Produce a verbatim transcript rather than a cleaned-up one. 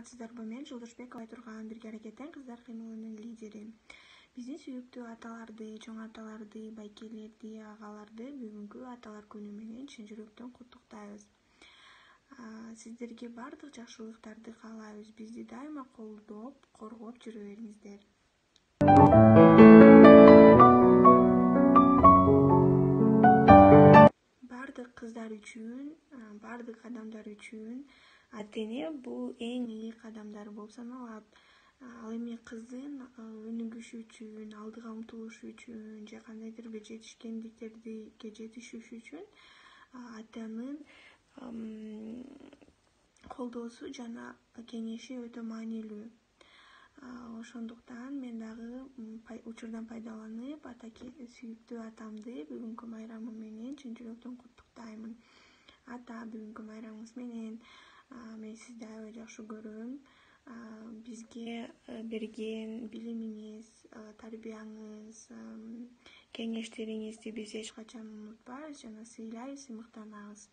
саламатсыздарбы? Мен Жолдошбекова Айтурган, Бирге аракеттен кыздар кыймылынын лидери. Биздин сүйүктүү аталарды, чоң аталарды, байкелерди, агаларды бүгүнкү аталар күнү менен чын жүрөктөн куттуктайбыз. Сиздерге бардык жакшылыктарды каалайбыз. Бизди дайыма колдоп, коргоп жүрө бериңиздер. Бардык кыздар үчүн, бардык адамдар үчүн ата-эне бул эң ыйык адамдар болуп саналат. Ал эми кыздын өнүгүшү үчүн, алдыга умтулушу үчүн же кандайдыр бир жетишкендиктерге жетишиш үчүн атанын колдоосу жана кеңеши өтө маанилүү. Ошондуктан мен дагы учурдан пайдаланып ата сүйүктүү атамды бүгүнкү майрамы менен чын жүрөктөн куттуктаймын. Ата, бүгүнкү майрамыңыз менен мен сизди аябай жакшы көрөм. Бизге берген билимиңиз, тарбияңыз, кеңештериңизди биз эч качан унутпайбыз жана сыйлайбыз, сыймыктанабыз.